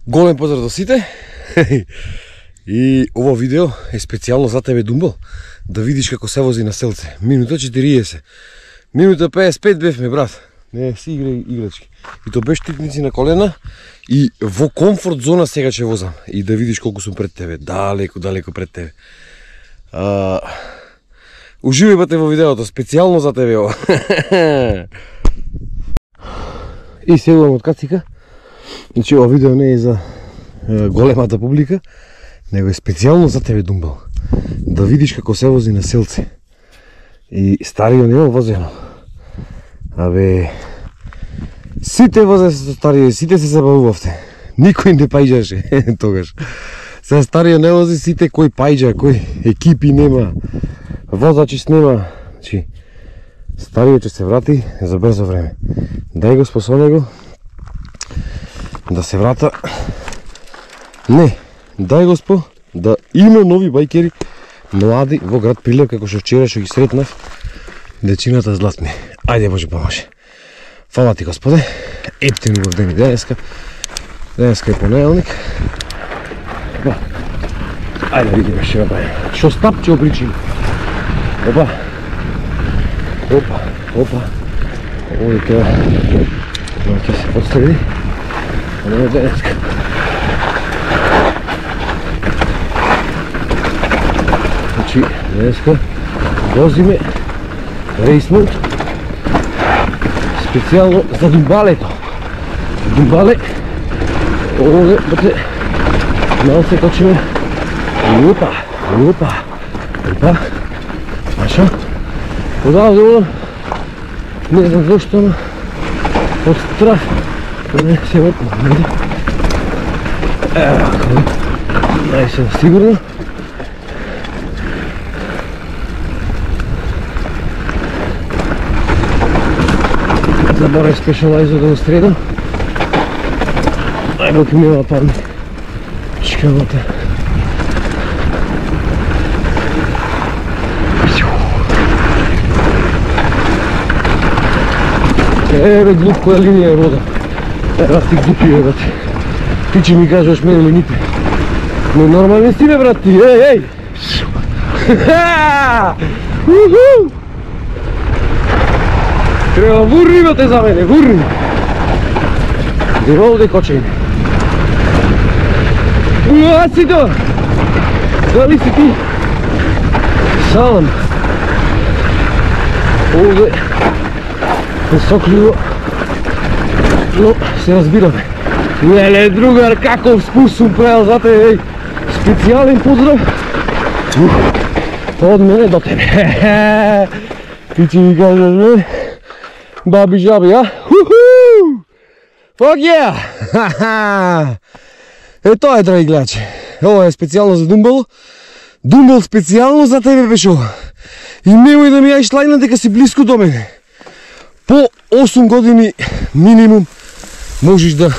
Голем поздрав до сите. И ово видео е специјално за тебе, Думбал, да видиш како се вози на селце. Минута 40. Минута 55 бевме, брат. Не си играчки. И то без штипници на колена и во комфорт зона сега ќе возам. И да видиш колку сум пред тебе. Далеко пред тебе. Уживај бате во видеото, специјално за тебе ова. И сегувам од кацика. Значи, ова видео не е за големата публика, него е специјално за тебе, Думбал. Да видиш како се вози на селце. И стариот нема возено. Абе, сите возе со стариот, сите се забавувавте. Никој не пајџаше тогаш. Се стариот не вози, сите кој пајџа, кој екипи нема, возачи нема. Значи, стариот ќе се врати за брзо време. Дај го способне го да се врата. Не, дај Госпо да има нови бајкери млади во град Прилеп, како што вчера што ги сретнав дечината златни. Ајде Боже поможе. Фала ти Господе. Ептен го ден денеска. Денеска е понеделник. Ајде видиме што ќе правиме. Што стап ќе обричим. Опа. Овој треба ќе се подстави. Не е денеска. Значи, денеска возиме рейс мод специјално за Думбалето. Думбале, овде бате мал се качиме. Опа. Аша. Одавде, не знам зашто, но од страх. Не се въртно. Дай се сигурно. Заборай спешалайзо да го средам. Ай, бок ми ема падне. Чекавата. Еве глуп која линија е вода. Ева ти глупи е, брат. Ти че ми кажеш мене лините. Но нормални си бе, брат ти. Ей! Треба вурни бате за мене, вурни. Дево овде кочење. А си то! Дали си ти? Салам. Овде посокливо, но се разбираме. Леле, другар, каков спуст сум правил за тебе, еј. Специјален поздрав од мене до тебе. Ти че ми кажеш мене, баби жаби, а? Fuck yeah! Е, тоа е, драги гледачи. Ова е специјално за Думбал. Думбал специјално за тебе беше ова. И немој да ми јаиш лајна дека си близко до мене. По 8 години минимум можеш да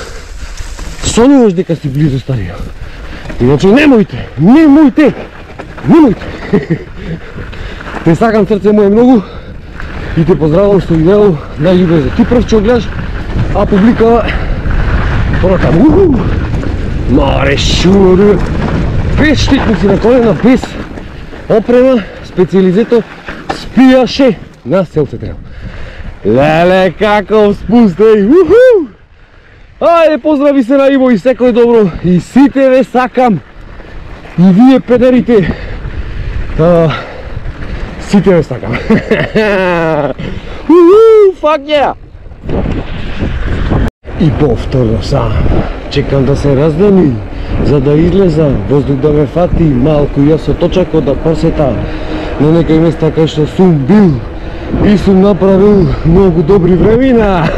сонуваш дека си близо стариот. Иначе немојте! Те сакам срце моје многу и те поздравам со видео најљубезно. Ти прв ќе гледаш, а публикава понатаму. Маре шур! Без штитници на колена, без опрема, специјализето спијаше на селце треба. Леле, каков спуст, еј! Ајде, поздрави се на Иво и секој добро. И сите ве сакам. И вие педерите. Сите ве сакам. Fuck yeah! И повторно сам. Чекам да се раздани, за да излезам, воздух да ме фати, малку јас со точако да посета на некој места кај што сум бил. И сум направил многу добри времена.